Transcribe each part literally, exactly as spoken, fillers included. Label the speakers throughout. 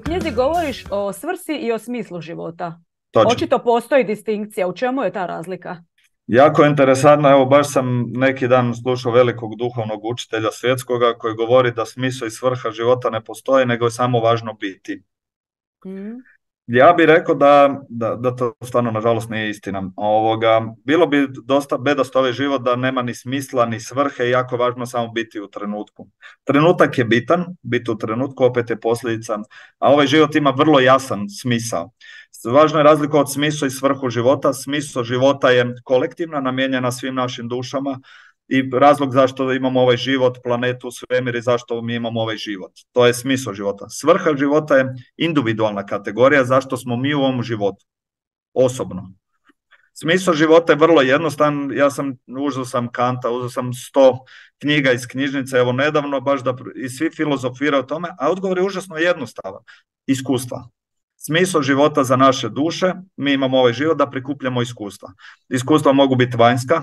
Speaker 1: u knjizi govoriš o svrsi i o smislu života.
Speaker 2: Točno.
Speaker 1: Očito postoji distinkcija. U čemu je ta razlika?
Speaker 2: Jako interesantno, evo baš sam neki dan slušao velikog duhovnog učitelja svjetskoga koji govori da smisao i svrha života ne postoji, nego je samo važno biti.
Speaker 1: Mm.
Speaker 2: Ja bih rekao da, da, da to stvarno nažalost nije istina. Ovoga, bilo bi dosta bedast ovaj život da nema ni smisla ni svrhe i jako važno samo biti u trenutku. Trenutak je bitan, biti u trenutku opet je posljedica, a ovaj život ima vrlo jasan smisao. Važno je razlikovati smisao i svrhu života. Smisao života je kolektivna, namijenjena svim našim dušama i razlog zašto imamo ovaj život, planetu, svemir i zašto mi imamo ovaj život. To je smisao života. Svrha života je individualna kategorija zašto smo mi u ovom životu, osobno. Smisao života je vrlo jednostavan. Ja sam uzeo sam Kanta, uzeo sam sto knjiga iz knjižnice, evo nedavno, baš da i svi filozofiraju o tome, a odgovor je užasno jednostavan. Iskustva. Smisao života za naše duše, mi imamo ovaj život da prikupljamo iskustva. Iskustva mogu biti vanjska,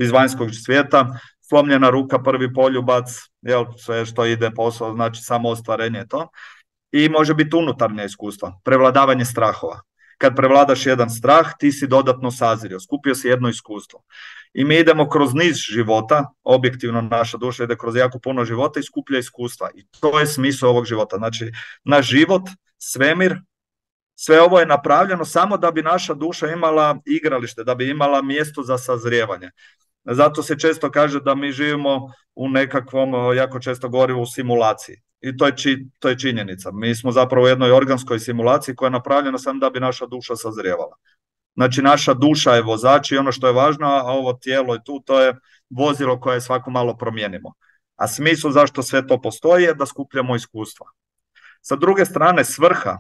Speaker 2: iz vanjskog svijeta, slomljena ruka, prvi poljubac, jel, sve što ide posao, znači samo ostvarenje to. I može biti unutarnje iskustva, prevladavanje strahova. Kad prevladaš jedan strah, ti si dodatno sazrio, skupio si jedno iskustvo. I mi idemo kroz niz života, objektivno naša duša ide kroz jako puno života i skuplja iskustva. I to je smisao ovog života. Znači, naš život, svemir, sve ovo je napravljeno samo da bi naša duša imala igralište, da bi imala mjesto za sazrijevanje. Zato se često kaže da mi živimo u nekakvom, jako često govorimo u simulaciji. I to je, či, to je činjenica. Mi smo zapravo u jednoj organskoj simulaciji koja je napravljena samo da bi naša duša sazrijevala. Znači naša duša je vozač i ono što je važno, a ovo tijelo je tu, to je vozilo koje svako malo promijenimo. A smisao zašto sve to postoji je da skupljamo iskustva. Sa druge strane, svrha.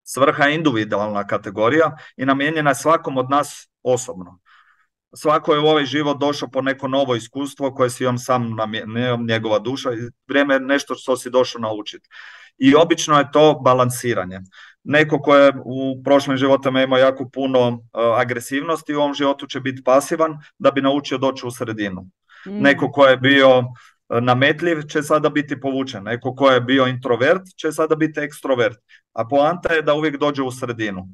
Speaker 2: Svrha je individualna kategorija i namijenjena je svakom od nas osobno. Svako je u ovaj život došao po neko novo iskustvo koje si on sam namijenio, njegova duša, i vrijeme je nešto što si došao naučiti. I obično je to balansiranje. Neko ko je u prošlim životima imao jako puno uh, agresivnosti, u ovom životu će biti pasivan da bi naučio doći u sredinu. Mm. Neko ko je bio nametljiv će sada biti povučen. Neko ko je bio introvert će sada biti ekstrovert. A poanta je da uvijek dođe u sredinu.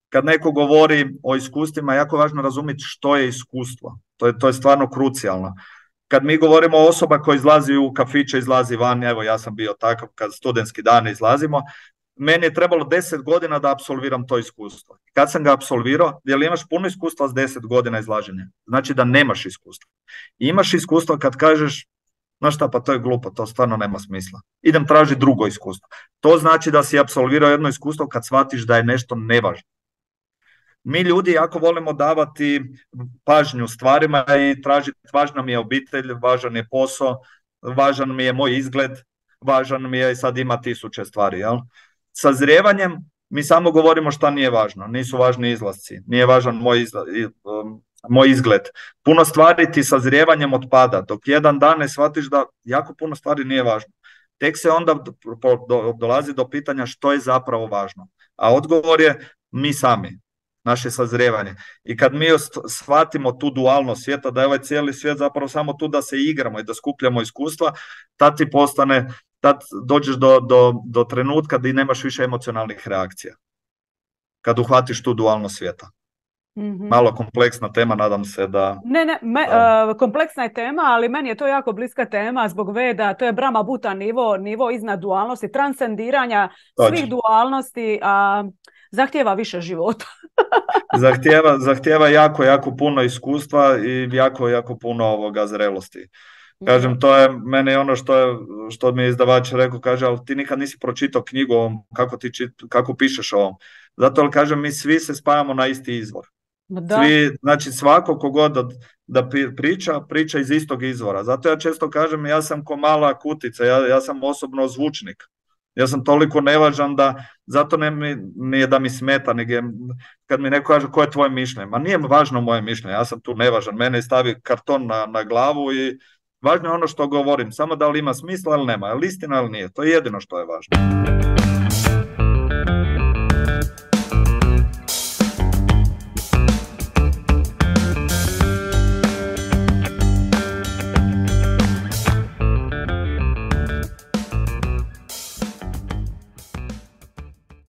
Speaker 2: Kad neko govori o iskustvima, jako važno razumjeti što je iskustvo. To je, to je stvarno krucijalno. Kad mi govorimo o osoba koja izlazi u kafiće, izlazi van, evo ja sam bio takav kad studentski dan izlazimo, meni je trebalo deset godina da apsolviram to iskustvo. Kad sam ga apsolvirao, jer imaš puno iskustva s deset godina izlaženja? Znači da nemaš iskustva. Imaš iskustvo kad kažeš, znaš šta, pa to je glupo, to stvarno nema smisla. Idem tražiti drugo iskustvo. To znači da si apsolvirao jedno iskustvo kad shvatiš da je nešto nevažno. Mi ljudi jako volimo davati pažnju stvarima i tražiti, važna mi je obitelj, važan je posao, važan mi je moj izgled, važan mi je, i sad ima tisuće stvari. Jel? Sazrijevanjem mi samo govorimo šta nije važno, nisu važni izlasci, nije važan moj, izla, moj izgled. Puno stvari ti sazrijevanjem otpada, dok jedan dan ne shvatiš da jako puno stvari nije važno. Tek se onda dolazi do pitanja što je zapravo važno. A odgovor je mi sami. Naše sazrijevanje. I kad mi shvatimo tu dualnost svijeta, da je ovaj cijeli svijet zapravo samo tu da se igramo i da skupljamo iskustva, tad ti postane, tad dođeš do, do, do trenutka da i nemaš više emocionalnih reakcija. Kad uhvatiš tu dualnost svijeta. Mm-hmm. Malo kompleksna tema, nadam se da...
Speaker 1: Ne, ne, me,
Speaker 2: da.
Speaker 1: Uh, kompleksna je tema, ali meni je to jako bliska tema zbog Veda, to je Brahma Buta nivo, nivo iznad dualnosti, transcendiranja
Speaker 2: Točno.
Speaker 1: Svih dualnosti, a zahtijeva više života.
Speaker 2: zahtijeva, zahtijeva jako, jako puno iskustva i jako, jako puno ovoga zrelosti. Kažem, to je meni ono što, je, što mi je izdavač rekao, kaže, ali ti nikad nisi pročitao knjigu o ovom, kako, ti čit, kako pišeš o ovom. Zato, ali kažem, mi svi se spajamo na isti izvor.
Speaker 1: Da.
Speaker 2: Svi, znači svako kogod da, da priča, priča iz istog izvora. Zato ja često kažem, ja sam ko mala kutica, ja, ja sam osobno zvučnik. Ja sam toliko nevažan da, zato ne mi, nije da mi smeta, nego je, kad mi neko kaže koje je tvoje mišljenje, ma nije važno moje mišljenje, ja sam tu nevažan, mene stavi karton na, na glavu i važno je ono što govorim, samo da li ima smisla ili nema, je li istina ili nije, to je jedino što je važno.